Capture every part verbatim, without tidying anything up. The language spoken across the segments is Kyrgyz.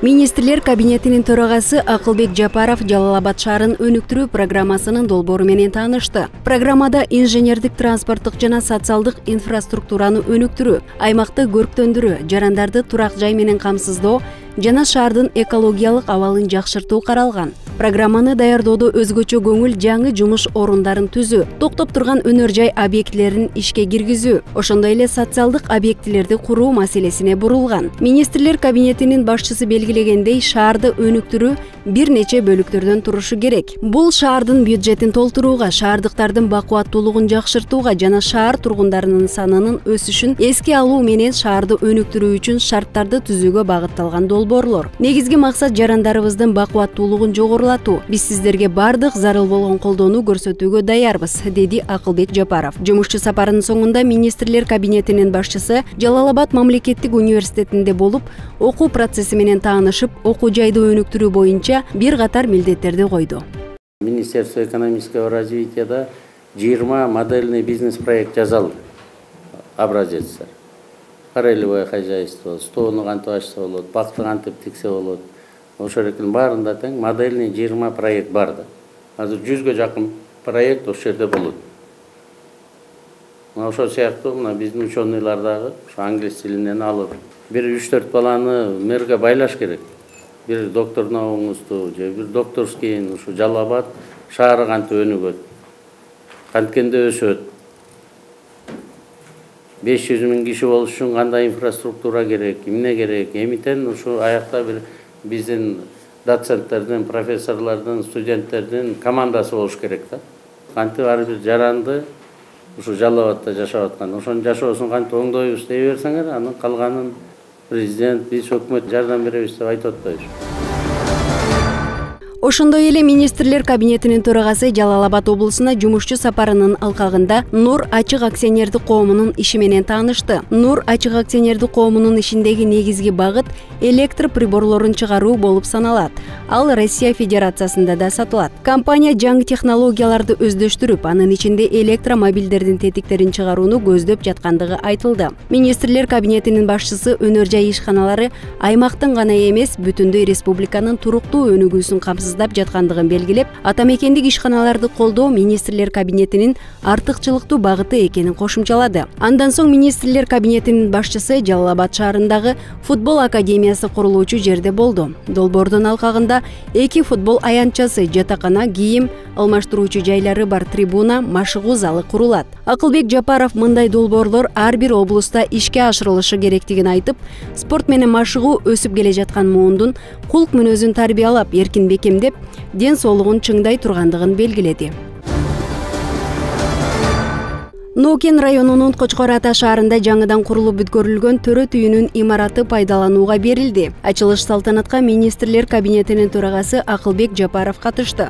Министрлер кабинетинин төрагасы Акылбек Жапаров Жалал Абад шаарын өнүктүрүү программасынын долбоору менен таанышты. Программада инженердик, транспорттук жана социалдык инфраструктураны өнүктүрүү, аймакты көрктөндүрүү, жарандарды турак жай менен камсыздоо жана шаардын экологиялык абалын жакшыртуу каралган. Программаны даярдоодо өзгөчө көңүл жаңы жумуш орундарын түзүү, токтоп турган өнөр жай объектилерин ишке киргизүү, ошондой эле социалдык объектилерди куруу маселесине бурулган. Министрлер кабинетинин башчысы белгилегендей, шаарды өнүктүрүү бир нече бөлүктөрдөн турушу керек. Бул шаардын бюджетин толтурууга, шаардыктардын бакубаттуулугун жакшыртууга жана шаар тургундарынын санынын өсүшүн эске алуу менен шаарды өнүктүрүү үчүн шарттарды түзүүгө багытталган долбоорлор. Негизги максат жарандарыбыздын бакубаттуулугун жогорулатуу. Биз сиздерге бардык зарыл болгон колдоону көрсөтүүгө даярбыз, деди Акылбек Жапаров. Жумушчу сапарынын соңунда министрлер кабинетинин башчысы Жалал Абад мамлекеттик университетинде болуп, окуу процесси менен таанышып, окуу жайды өнүктүрүү боюнча бир катар милдеттерди койду. Министерство экономического развития жыйырма модельный бизнес-проект жазалды. Образецтер. Парелевое хозяйство, стоону кантип ачса болот, бакты кантип тиксе болот. Ошол экен баарында тең модельный жыйырма проект бар да. Азыр жүзгө жакын проект ошол жерде болот. Мына ошол сыяктуу мына биздин ученыйлар дагы ошо англис тилинен алып, бир үч төрт баланы мэрге байлаш керек. Бир доктор наукаңызды же бир докторский ушу Жалал Абад шаары кантип өнүгөт, канткенде өсөт. беш жүз миң киши болуш үчүн кандай инфраструктура керек, эмне керек, эмитен ушу аякта бир биздин доценттердин, профессорлордун, студенттердин командасы болуш керек да. Кантип ар бир жаранды ушу Жалал Абадта жашап аткан, ошонун жашоосун кантип оңдойбуз дей берсеңер, анын калганын президент, биз өкмөт жардам беребиз деп айтып атпайбыз. Ошондой эле министрлер кабинетинин төрагасы Жалал Абад облусуна жумушчу сапарынын алкагында Нур ачык акционердик коомунун иши менен таанышты. Нур ачык акционердик коомунун ишиндеги негизги багыт электр приборлорун чыгаруу болуп саналат. Ал Россия Федерациясында да сатылат. Компания жаңы технологияларды өздөштүрүп, анын ичинде электромобилдердин тетиктерин чыгарууну көздөп жаткандыгы айтылды. Министрлер кабинетинин башчысы өнөр жай ишканалары аймактын гана эмес, бүтүндөй республиканын туруктуу өнүгүүсүн камсыз жаткандыгын белгилеп, атамекендик ишканаларды колдоо министрлер кабинетинин артыкчылыктуу багыты экенин кошумчалады. Андан соң министрлер кабинетинин башчысы Жалал Абад шаарындагы футбол академиясы курулуучу жерде болду. Долбоордун алкагында эки футбол аянтчасы, жатакана, кийим алмаштыруучу жайлары бар трибуна, машыгуу залы курулат. Акылбек Жапаров мындай долбоорлор ар бир облуста ишке ашырылышы керектигин айтып, спорт менен машыгуу өсүп келе жаткан муундун кулк мүнөзүн тарбиялап, эркин бекемдеп, ден соолугун чыңдай тургандыгын белгиледи. Ноокен районунун Кочкор Ата шаарында жаңыдан курулуп бүткөрүлгөн төрөт үйүнүн имараты пайдаланууга берилди. Ачылыш салтанатка министрлер кабинетинин төрагасы Акылбек Жапаров катышты.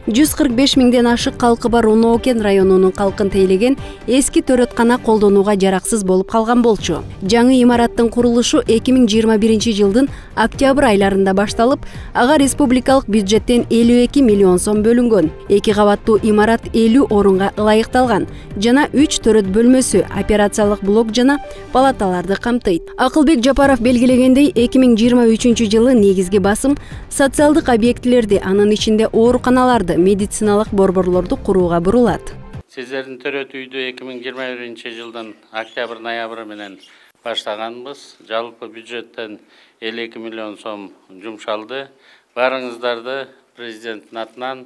жүз кырк беш миңден ашык калкы бар Ноокен районунун калкын тейлеген эски төрөткана колдонууга жараксыз болуп калган болчу. Жаңы имараттын курулушу эки миң жыйырма биринчи жылдын октябрь айларында башталып, ага республикалык бюджеттен элүү эки миллион сом бөлүнгөн. Эки кабаттуу имарат элүү орунга ылайыкталган жана үч төрөт бөлмөсү, операциялык блок жана палаталарды камтыйт. Акылбек Жапаров белгилегендей, эки миң жыйырма үчүнчү жылы негизги басым социалдык объектилерди, анын ичинде ооруканаларды, медициналык борборлорду курууга бурулат. Сиздердин төрөт үйдү эки миң жыйырма биринчи жылдын октябрь-ноябрь менен баштаганбыз. Жалпы бюджеттен элүү эки миллион сом жумшалды. Баарыңыздарды президенттин атынан,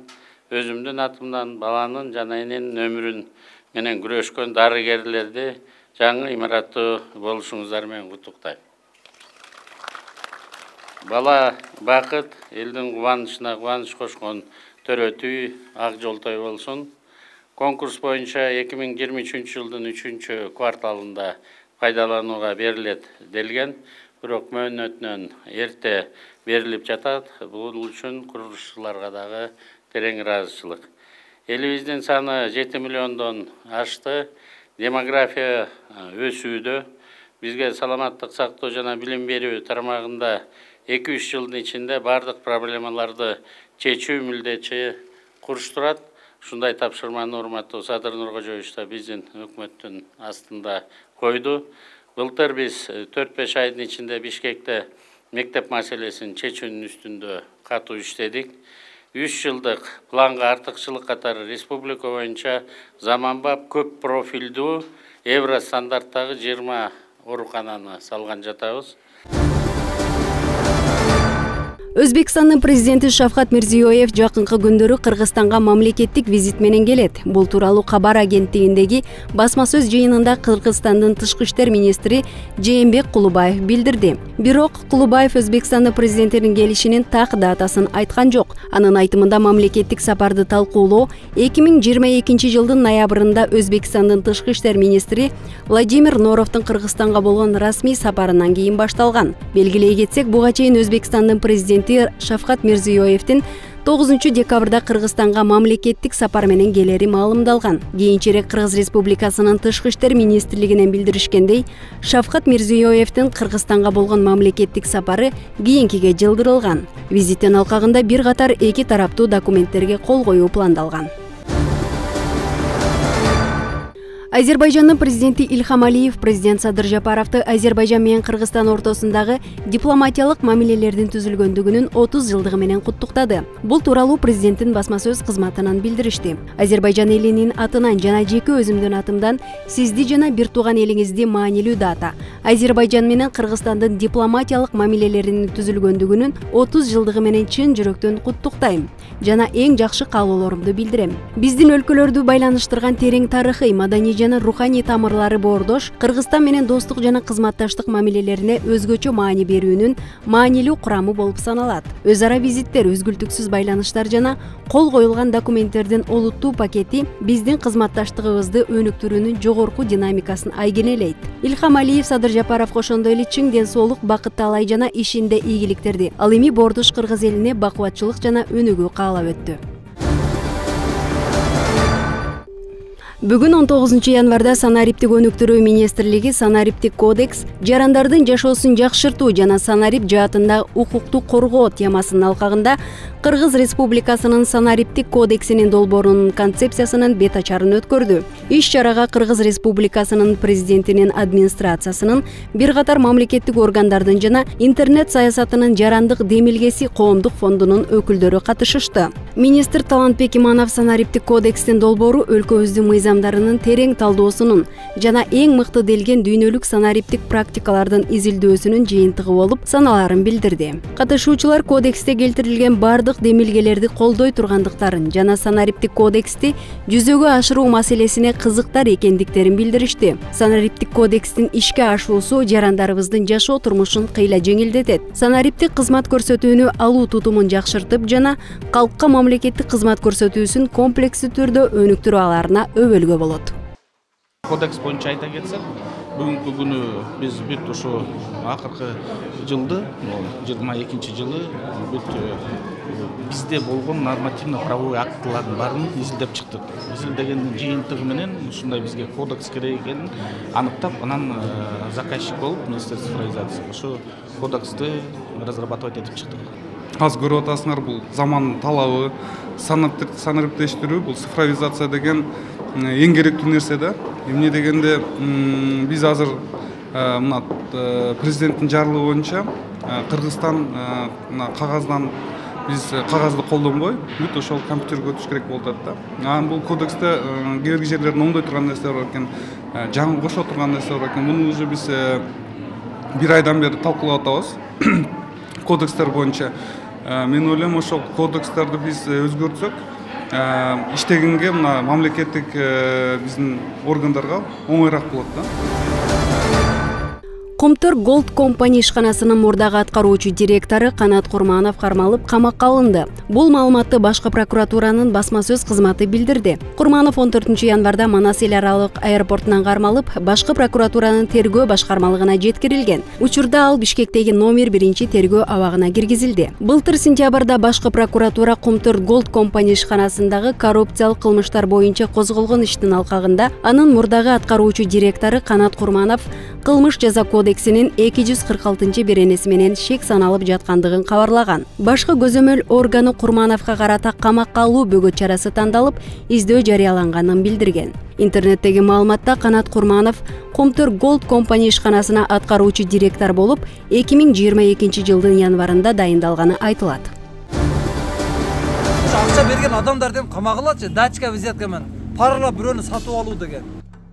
өзүмдүн атымдан, баланын жана эненин өмүрүн менен күрөшкөн дарыгерлерди жаңы имараттуу болушуңуздар менен куттуктайм. Бала бакыт, элдин кубанычына кубаныч кошкон төрөт үй ак жолтой болсун. Конкурс боюнча эки миң жыйырма үчүнчү жылдын үчүнчү кварталында пайдаланууга берилет делген, бирок мөөнөтүнөн эрте берилип жатат. Бул үчүн курулушчуларга дагы терең ыраазычылык. Элибиздин саны жети миллиондон ашты. Демография өсүүдө. Бизге саламаттык сактоо жана билим берүү тармагында эки үч жылдын ичинде бардык проблемаларды чечүү милдетчи куруштурат. Ушундай тапшырманы урматтуу Садыр Нуркожоевич да биздин өкмөттүн астында койду. Былтыр биз төрт беш айдын ичинде Бишкекте мектеп маселесин чечүүнүн үстүндө катуу иштедик. үч жылдык планга артыкчылык катары республика боюнча заманбап көп профилдүү евро стандарттагы жыйырма оорукананы салган жатабыз. Өзбекстандын президенти Шавкат Мирзиёев жакынкы күндөрү Кыргызстанга мамлекеттик визит менен келет. Бул тууралуу Кабар агенттигиндеги басма сөз жыйынында Кыргызстандын тышкы иштер министри Жээнбек Кулубаев билдирди. Бирок Кулубаев Өзбекстандын президентинин келишинин так датасын айткан жок. Анын айтымында мамлекеттик сапарды талкуулоо эки миң жыйырма экинчи жылдын ноябрында Өзбекстандын тышкы иштер министри Владимир Норовдун Кыргызстанга болгон расмий сапарынан кийин башталган. Белгилей кетсек, буга чейин Өзбекстандын президенти Шавкат Мирзиёевдин тогузунчу декабрда Кыргызстанга мамлекеттик сапар менен келери маалымдалган. Кийинчерээк Кыргыз Республикасынын тышкы иштер министрлигинен билдиришкендей, Шавкат Мирзиёевдин Кыргызстанга болгон мамлекеттик сапары кийинкиге жылдырылган. Визиттин алкагында бир катар эки тараптуу документтерге кол коюу пландалган. Азербайжандын президенти Ильхам Алиев президент Садыр Жапаровду Азербайжан менен Кыргызстан ортосундагы дипломатиялык мамилелердин түзүлгөндүгүнүн отуз жылдыгы менен куттуктады. Бул тууралуу президенттин басма сөз кызматынан билдиришти. Азербайжан элинин атынан жана жеке өзүмдүн атымдан сизди жана бир тууган элиңизди маанилүү дата Азербайжан менен Кыргызстандын дипломатиялык мамилелеринин түзүлгөндүгүнүн отуз жылдыгы менен чын жүрөктөн куттуктайм жана эң жакшы каалоолорумду билдирем. Биздин өлкөлөрдү байланыштырган терең тарыхый, маданий жана руханий тамырлары боордош, Кыргызстан менен достук жана кызматташтык мамилелерине өзгөчө маани берүүнүн маанилүү курамы болуп саналат. Өз ара визиттер, үзгүлтүксүз байланыштар жана кол коюлган документтердин олуттуу пакети биздин кызматташтыгыбызды өнүктүрүүнүн жогорку динамикасын айгинелейт. Ильхам Алиев Садыр Жапаров ошондой эле чың ден соолук, бакыт талай жана ишинде ийгиликтерди ал эми боордош Кыргыз элине бакубатчылык жана өнүгүү каалап өттү. Бүгүн он тогузунчу январда Санариптик өнүктүрүү министрлиги Санариптик кодекс жарандардын жашоосун жакшыртуу жана санарип жаатында укукту коргоо темасынын алкагында Кыргыз Республикасынын Санариптик кодексинин долбоорунун концепциясынын бет ачарын өткөрдү. Иш чарага Кыргыз Республикасынын президентинин администрациясынын, бир катар мамлекеттик органдардын жана интернет саясатынын жарандык демилгеси коомдук фондунун өкүлдөрү катышышты. Министр Талантбек Иманов Санариптик кодекстин долбоору өлкөбүздүн мыйзамдарынын терең талдоосунун жана эң мыкты делген дүйнөлүк санариптик практикалардын изилдөөсүнүн жыйынтыгы болуп саналарын билдирди. Катышуучулар кодексте келтирилген бардык демилгелерди колдой тургандыктарын жана Санариптик кодексти жүзөгө ашыруу маселесине кызыктар экендиктерин билдиришти. Санариптик кодекстин ишке ашуусу жарандарыбыздын жашоо турмушун кыйла жеңилдетет. Санариптик кызмат көрсөтүүнү алуу тутумун жакшыртып жана калкка мамлекеттик кызмат көрсөтүүсүн комплекстүү түрдө өнүктүрүү аларына өбөлгө болот. Кодекс боюнча айта кетсек, бүгүнкү күнү биз бүт ушу акыркы жылды, жыйырма экинчи жылы бүт бизде болгон нормативно-правовой актылардын баарын изилдеп чыктык. Изилдегендин жыйынтыгы менен ушундай бизге кодекс керек экенин аныктап, анан заказчик болуп Министерство цифровизации ушу кодексти разрабатывать этип чыктык. Аз көрүп атасыңар, бул замандын талабы, санариптештирүү, бул цифровизация деген эң керектүү нерсе да. Эмне дегенде биз азыр мына президенттин жарлыгы боюнча Кыргызстан мына кагаздан биз кагазды колдонбой, бүт ошол компьютерге өтүш керек болуп атат да. Анан бул кодексте кээ бир жерлерде оңдой турган нерселер бар экен, жаңы кошо турган нерселер бар экен. Муну уже биз бир айдан бери талкуулап атабыз. Кодекстер боюнча мен ойлойм, ошол кодекстерди биз өзгөртсөк, иштегенге мына мамлекеттик биздин органдарга оңоюраак болот да. Комтор Gold Company ишканасынын мурдагы аткаруучу директору Канат Курманов кармалып камакка алынды. Бул маалыматты башкы прокуратуранын басма сөз кызматы билдирди. Курманов он төртүнчү январда Манас эл аралык аэропортунан кармалып, башкы прокуратуранын тергөө башкармалыгына жеткирилген. Учурда ал Бишкектеги номер биринчи тергөө абагына киргизилди. Былтыр сентябрда башкы прокуратура Комтор Gold Company ишканасындагы коррупциялык кылмыштар боюнча козголгон иштин алкагында анын мурдагы аткаруучу директору Канат Курманов кылмыш жаза кодексинин эки жүз кырк алтынчы беренеси менен шек саналып жаткандыгын кабарлаган. Башкы көзөмөл органы Курмановго карата камакка алуу бөгөт чарасы тандалып, издөө жарыяланганын билдирген. Интернеттеги маалыматта Канат Курманов Комтөр Голд компания ишканасына аткаруучу директор болуп, эки миң жыйырма экинчи жылдын январында дайындалганы айтылат. Акча берген адамдардын камагылачы дачка взятка менен паралап бирөөнү сатып алуу деген.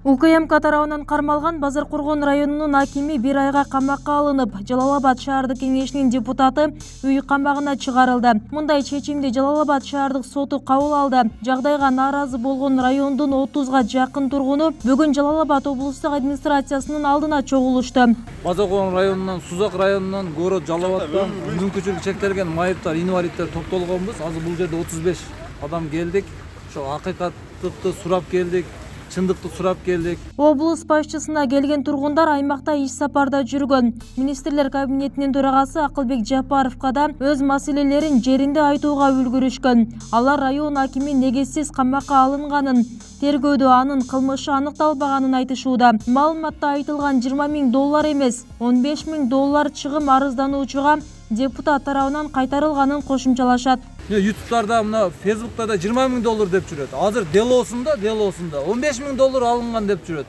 УКМК тарабынан кармалган Базаркоргон районунун акими бир айга камакка алынып, Жалал-Абад шаардык кеңешинин депутаты үй камагына чыгарылды. Мындай чечимди Жалал-Абад шаардык соту кабыл алды. Жагдайга нааразы болгон райондун отузга жакын тургуну бүгүн Жалал-Абад облустук администрациясынын алдына чогулушту. Базаркоргон районунан, Сузак районунан, Город Жалал-Абадтан мүмкүнчүлүгү чектелген майыптар, инвалидтер топтолгонбуз. Азыр бул жерде отуз беш адам келдик. Ошо акыйкаттыкты сурап келдик. Чындыкты сурап келдик. Облус башчысына келген тургундар аймакта иш сапарда жүргөн. Министрлер кабинетинин төрагасы Акылбек Жапаровго да өз маселелерин жеринде айтууга үлгүрүшкөн. Алар район акими негизсиз камакка алынганын, тергөөдө анын кылмышы аныкталбаганын айтышууда. Маалыматта айтылган жыйырма миң доллар эмес, он беш миң доллар чыгым арыздануучуга депутат тарабынан кайтарылганын кошумчалашат. ютубтарда, мына Фейсбукта да жыйырма миң доллар деп жүрөт. Азыр делосунда, делосунда он беш миң доллар алынган деп жүрөт.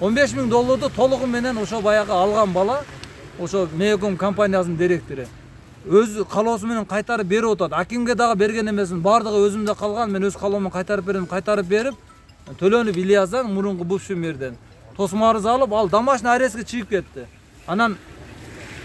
он беш миң долларды толугу менен ошо баягы алган бала, ошо Меяком компаниясынын директору өз калоосу менен кайтарып берип атат. Акимге дагы берген эмесмин, бардыгы өзүмдө калган. Мен өз калоомун кайтарып берем, кайтарып берип, Төлөнүп Ильяздан мурунку бывший мэрден тосмо арыз алып, ал домашний арестке чыгып кетти. Анан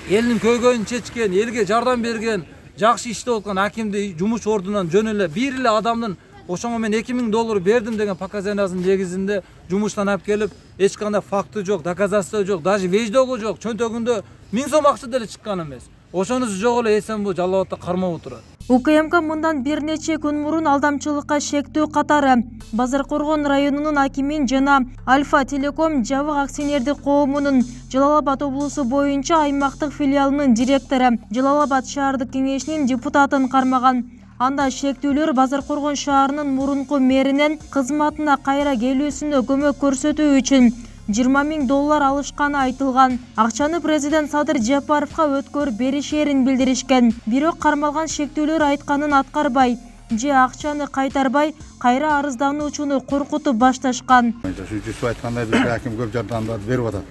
элдин көйгөйүн чечкен, элге жардам берген, жакшы иштеп аткан акимди жумуш ордунан жөн эле бир эле адамдын ошоңо мен эки миң доллар бердим деген показаниясынын негизинде жумуштан алып келип, эч кандай факты жок, доказательство жок, даже веждогу жок, чөнтөгүндө миң сом акча деле чыккан эмес. Ошонусу жок эле эсен бу Жалал-Абадта кармап отурат. УКМК мындан бир нече күн мурун алдамчылыкка шектөө катары Базаркоргон районунун акимин жана Альфа Телеком жабык акционердик коомунун Жалал-Абад облусу боюнча аймактык филиалынын директору, Жалал-Абад шаардык кеңешинин депутатын кармаган. Анда шектүүлөр Базаркоргон шаарынын мурунку мэринен кызматына кайра келүүсүнө көмөк көрсөтүү үчүн жыйырма миң доллар алышканы айтылган. Акчаны президент Садыр Жапаровго өткөрүп беришерин билдиришкен. Бирок кармалган шектүүлөр айтканын аткарбай же акчаны кайтарбай, кайра арыздануучуну коркутуп башташкан. Жүзү айткандай бизге аким көп жардамдарды берип атат.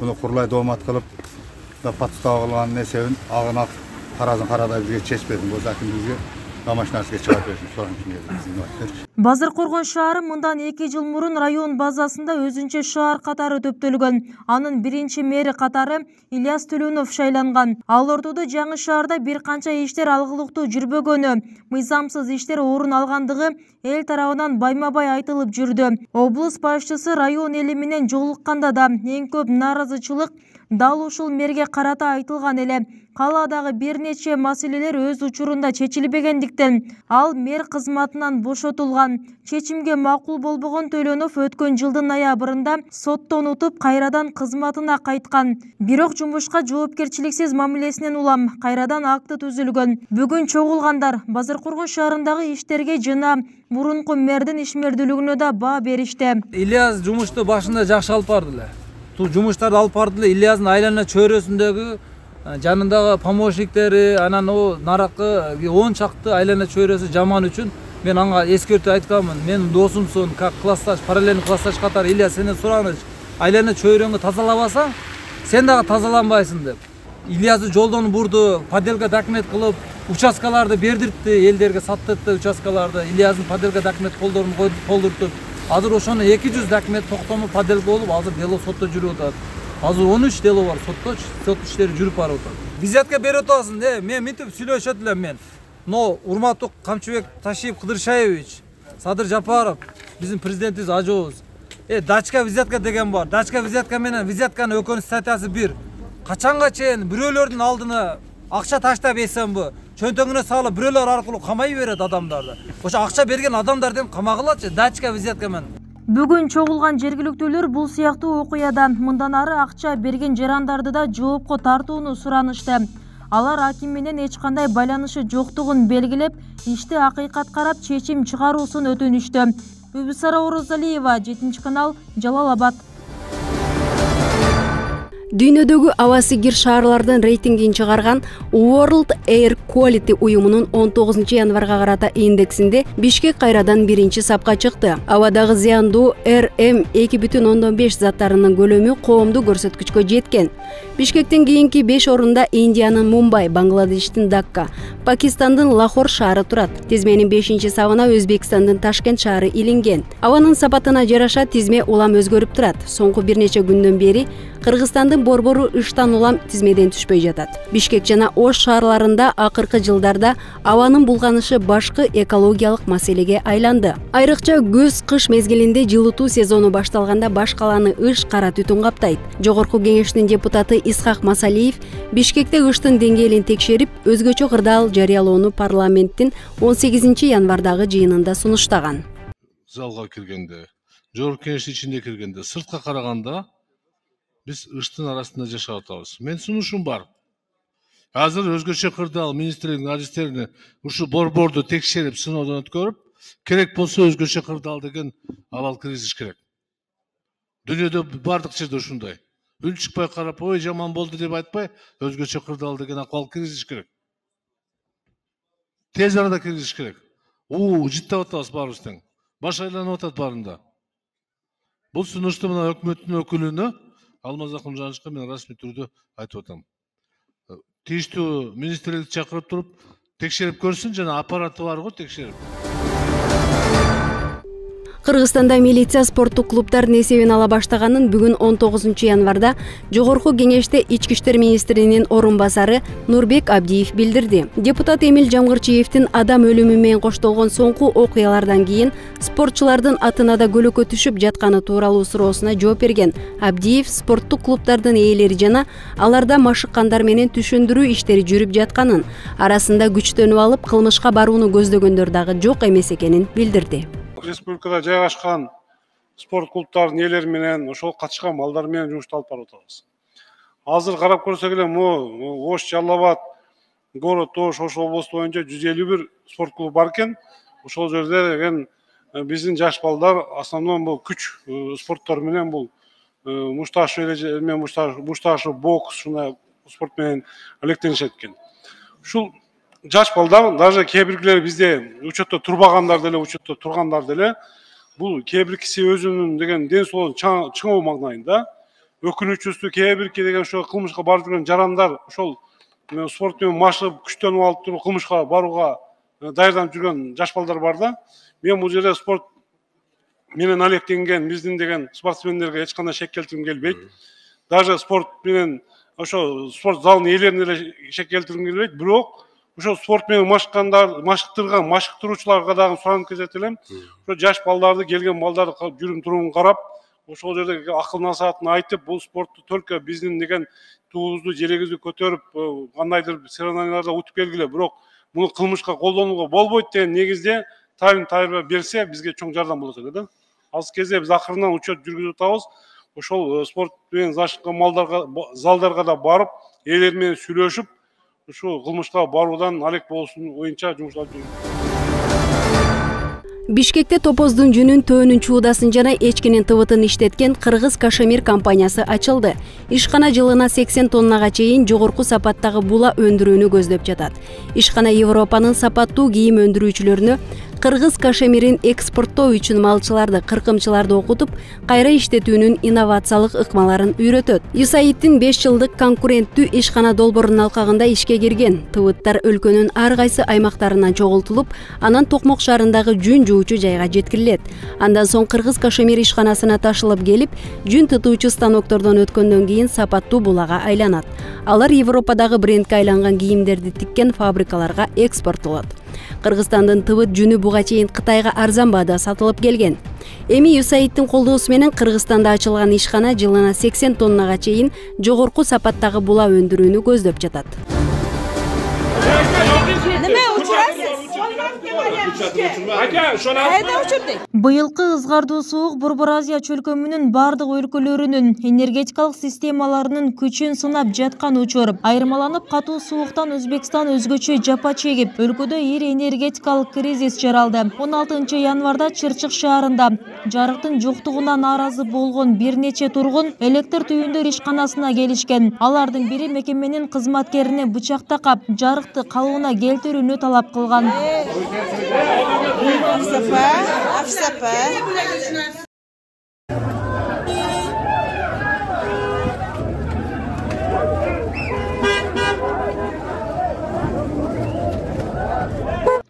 Буну курлай доомат кылып, подстава кылган несебин агына каразын карадай бизге чечпедим. Бул аким бизге домашнийге чыгарып беришин сураган. Базаркоргон шаары мындан эки жыл мурун район базасында өзүнчө шаар катары төптөлгөн. Анын биринчи мэри катары Ильяс Төлөнов шайланган. Ал ортодо жаңы шаарда бир канча иштер алгылыктуу жүрбөгөнү, мыйзамсыз иштер орун алгандыгы эл тарабынан байма-бай айтылып жүрдү. Облус башчысы район эли менен жолукканда да эң көп нааразычылык дал ушул мэрге карата айтылган эле. Калаадагы бир нече маселелер өз учурунда чечилбегендиктен ал мэр кызматынан бошотулган. Чечимге макул болбогон Төлөнов өткөн жылдын ноябрында соттон утуп кайрадан кызматына кайткан. Бирок жумушка жоопкерчиликсиз мамилесинен улам кайрадан акты түзүлгөн. Бүгүн чогулгандар Базаркоргон шаарындагы иштерге жана мурунку мэрдин ишмердүүлүгүнө да баа беришти. Ильяс жумушту башында жакшы алып барды эле. Бул жумуштарды алып барды эле. Ильястын айлана чөйрөсүндөгү жанындагы помощниктери, анан о наракы он чакты айлана чөйрөсү жаман үчүн мен ага эскертүү айтканмын. Мен досумсун, как классташ, параллельный классташ катары Ильяс сенен сураныч, айлана чөйрөңдү тазалабасаң, сен дагы тазаланбайсың деп. Ильясты жолдон бурду, поделка документ кылып, участкаларды бердиртти, элдерге саттыртты участкаларды. Ильястын поделка документ колдорун колдуртуп, азыр ошону эки жүз документ токтому поделка болуп, азыр дело сотто жүрүп атат. Азыр он үч дело бар сотто, сот иштери жүрүп барып атат. Визитка берип атасың, э, мен мынтип сүйлөшөт элем мен. Но урматтуу Камчыбек Ташиев Кыдыршаевич, Садыр Жапаров, биздин президентибиз ажообуз. Э, дачка визитка деген бар. Дачка визитка менен визитканын өкөнүш статьясы бир. Качанга чейин бирөөлөрдүн алдына акча таштап эсенби, чөнтөгүнө салып бирөөлөр аркылуу камай берет адамдарды. Ошо акча берген адамдардын камагылачы дачка визитка менен. Бүгүн чогулган жергиликтүүлөр бул сыяктуу окуядан мындан ары акча берген жарандарды да жоопко тартууну суранышты. Алар аким менен эч кандай байланышы жоктугун белгилеп, ишти акыйкат карап чечим чыгаруусун өтүнүштү. Үбүсара Орозалиева, жетинчи канал, Жалал-Абад. Дүйнөдөгү абасы кир шаарлардын рейтингин чыгарган World Air Quality уюмунун он тогузунчу январга карата индексинде Бишкек кайрадан биринчи сапка чыкты. Абадагы зыяндуу эр эм эки бүтүн ондон беш заттарынын көлөмү коомдук көрсөткүчкө жеткен. Бишкектен кийинки беш орунда Индиянын Мумбай, Бангладештин Дакка, Пакистандын Лахор шаары турат. Тизменин бешинчи сабына Өзбекстандын Ташкент шаары илинген. Абанын сапатына жараша тизме улам өзгөрүп турат. Соңку бир нече күндөн бери Кыргызстандын борбору ыштан улам тизмеден түшпөй жатат. Бишкек жана Ош шаарларында акыркы жылдарда абанын булганышы башкы экологиялык маселеге айланды. Айрыкча көз-кыш мезгилинде жылытуу сезону башталганда баш каланы ыш кара түтүн каптайт. Жогорку кеңештин депутаты Исхак Масалиев Бишкекте ыштын деңгээлин текшерип, өзгөчө кырдаал жарыялоону парламенттин он сегизинчи январдагы жыйынында сунуштаган. Залга киргенде, жогорку кеңештин ичинде киргенде, сыртка караганда биз ыштын арасында жашап атабыз. Мен сунушум бар. Азыр өзгөчө кырдаал министрликтин адистерине ушу борборду текшерип, сыноодон өткөрүп, керек болсо өзгөчө кырдаал деген абал киргизиш керек. Дүйнөдө бардык жерде ушундай. Үн чыкпай карап, ой жаман болду деп айтпай, өзгөчө кырдаал деген акыбал киргизиш керек. Тез арада киргизиш керек. У, жыттап атабыз баарыбыз тең. Баш айланып атат баарында. Бул сунушту мына өкмөттүн өкүлүнө Алмаз Акунжановичке мен расмий түрдө айтып атам. Тийиштүү министрликти чакырып туруп, текшерип көрсүн, жана аппараты бар го текшерип. Кыргызстанда милиция спорттук клубдардын эсебин ала баштаганын бүгүн он тогузунчу январда Жогорку кеңеште Ички иштер министринин орун басары Нурбек Абдиев билдирди. Депутат Эмил Жамгырчиевдин адам өлүмү менен коштолгон соңку окуялардан кийин спортчулардын атына да көлөкө түшүп жатканы тууралуу суроосуна жооп берген Абдиев спорттук клубдардын ээлери жана аларда машыккандар менен түшүндүрүү иштери жүрүп жатканын, арасында күчтөнүп алып кылмышка барууну көздөгөндөр дагы жок эмес экенин билдирди. Республикада жайгашкан спорт клубтардын ээлери менен ошол катышкан балдар менен жумушту алып барып атабыз. Азыр карап көрсөк эле могу Ош, Жалал Абад, Город Ош, Ош областу боюнча жүз элүү бир спорт клубу бар экен. Ошол жерде деген биздин жаш балдар основном бул күч спорттор менен бул мушташы менен мушташы бокс ушундай спорт менен алектенишет экен. Ушул жаш балдар, даже кээ биргилери бизде учетто турбагандар деле, учетто тургандар деле, бул кээ биркиси өзүнүн деген ден соолугун чыңоо магдайында, өкүнүчүсү кээ бирки деген ошо кылмышка барып жүргөн жарандар ошол спорт менен машыгып, күчтөнүп алып туруп кылмышка барууга даярданып жүргөн жаш балдар бар да. Мен бул жерде спорт менен алектенген биздин деген спортсмендерге эч кандай шек келтиргим келбейт. Даже спорт менен ошо спорт залынын ээлерине деле шек келтиргим келбейт, бирок ошо спорт менен машыккандар, машыктырган, машыктыруучуларга дагы суранып кетет элем. Ошо жаш балдарды, келген балдарды жүрүм туруун карап, ошол жерде акыл насаатын айтып, бул спортту только биздин деген туубузду, жерегибизди көтөрүп, кандайдыр соревнованияларда утуп келгиле, бирок муну кылмышка колдонууга болбойт деген негизде тайын тайырба берсе, бизге чоң жардам болот эле да. Азыр кезде биз акырынан учет жүргүзүп атабыз. Ошол спорт менен зашыккан малдарга, залдарга да барып, ээлери менен сүйлөшүп, ушу кылмышка баруудан алек болуусун боюнча жумуштар жүргүзүп. Бишкекте топоздун жүнүн, төөнүн чуудасын жана эчкинин тыбытын иштеткен Кыргыз Кашемир компаниясы ачылды. Ишкана жылына сексен тоннага чейин жогорку сапаттагы була өндүрүүнү көздөп жатат. Ишкана Европанын сапаттуу кийим өндүрүүчүлөрүнө Кыргыз Кашемирин экспорттоо үчүн малчыларды, кыркымчыларды окутуп, кайра иштетүүнүн инновациялык ыкмаларын үйрөтөт. Юсаиддин беш жылдык конкуренттүү ишкана долбоорунун алкагында ишке кирген. Тыбыттар өлкөнүн ар кайсы аймактарынан чогултулуп, анан Токмок шаарындагы жүн жуучу жайга жеткирилет. Андан соң Кыргыз Кашемир ишканасына ташылып келип, жүн тытуучу станоктордон өткөндөн кийин сапаттуу булага айланат. Алар Европадагы брендке айланган кийимдерди тиккен фабрикаларга экспорттолот. Кыргызстандын тыбыт жүнү буга чейин Кытайга арзан баада сатылып келген. Эми Юсаиддин колдоосу менен Кыргызстанда ачылган ишкана жылына сексен тоннага чейин жогорку сапаттагы була өндүрүүнү көздөп жатат. Быйылкы ызгардуу суук Борбор Азия чөлкөмүнүн бардык өлкөлөрүнүн энергетикалык системаларынын күчүн сынап жаткан учур. Айырмаланып катуу сууктан Өзбекстан өзгөчө жапа чегип, өлкөдө ири энергетикалык кризис жаралды. он алтынчы январда Чырчык шаарында жарыктын жоктугуна нааразы болгон бир нече тургун электр түйүндөр ишканасына келишкен. Алардын бири мекеменин кызматкерине бычак такап, жарыкты калыбына келтирүүнү талап кылган.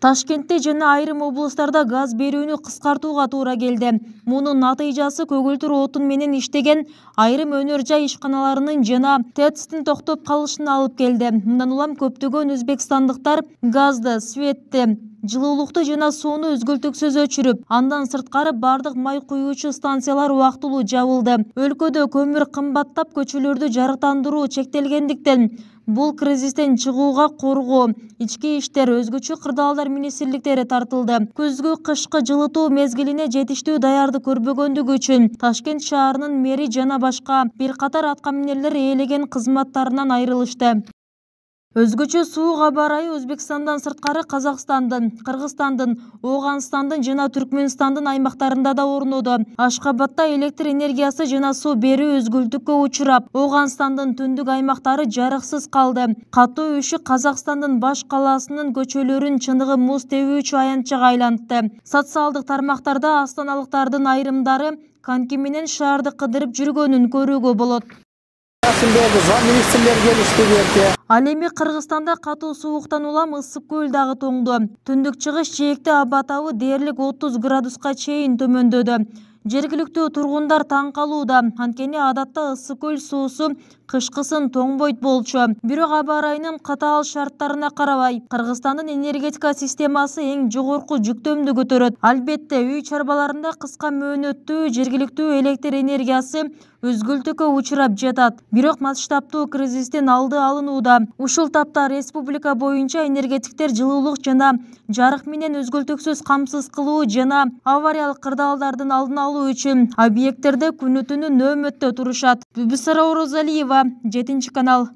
Ташкентте жана айрым облустарда газ берүүнү кыскартууга туура келди. Мунун натыйжасы көгүлтүр отун менен иштеген айрым өнөр жай ишканаларынын жана ТЭЦтин токтоп калышына алып келди. Мындан улам көптөгөн өзбекстандыктар газды, светти, жылуулукту жана сууну үзгүлтүксүз өчүрүп, андан сырткары бардык май куюучу станциялар убактылуу жабылды. Өлкөдө көмүр кымбаттап, көчөлөрдү жарыктандыруу чектелгендиктен бул кризистен чыгууга коргоо, ички иштер, өзгөчө кырдаалдар министрликтери тартылды. Күзгү кышкы жылытуу мезгилине жетиштүү даярдык көрбөгөндүгү үчүн Ташкент шаарынын мэри жана башка бир катар аткаминерлер ээлеген кызматтарынан айрылышты. Өзгөчө суук аба ырайы Өзбекстандан сырткары Казакстандын, Кыргызстандын, Ооганстандын жана Түркмөнстандын аймактарында да орноду. Ашкабадда электр энергиясы жана суу берүү үзгүлтүккө учурап, Ооганстандын түндүк аймактары жарыксыз калды. Катуу үшүк Казакстандын баш калаасынын көчөлөрүн чыныгы муз тебүүчү аянтчага айлантты. Социалдык тармактарда астаналыктардын айрымдары коньки менен шаарды кыдырып жүргөнүн көрүүгө болот. Ал эми Кыргызстанда катуу сууктан улам ысык көл дагы тоңду. Түндүк чыгыш жээкте аба табы дээрлик отуз градуска чейин төмөндөдү. Жергиликтүү тургундар таң калууда, анткени адатта ысык көл суусу кышкысын тоңбойт болчу. Бирок аба ырайынын катаал шарттарына карабай, Кыргызстандын энергетика системасы эң жогорку жүктөмдү көтөрөт. Албетте, үй чарбаларында кыска мөөнөттүү жергиликтүү электр энергиясы үзгүлтүккө учурап жатат. Бирок масштабтуу кризистин алды алынууда. Ушул тапта республика боюнча энергетиктер жылуулук жана жарык менен үзгүлтүксүз камсыз кылуу жана авариялык кырдаалдардын алдын алуу үчүн объекттерде күнү-түнү нөөмөттө турушат. Бүбүсара Орозалиева, жетинчи канал.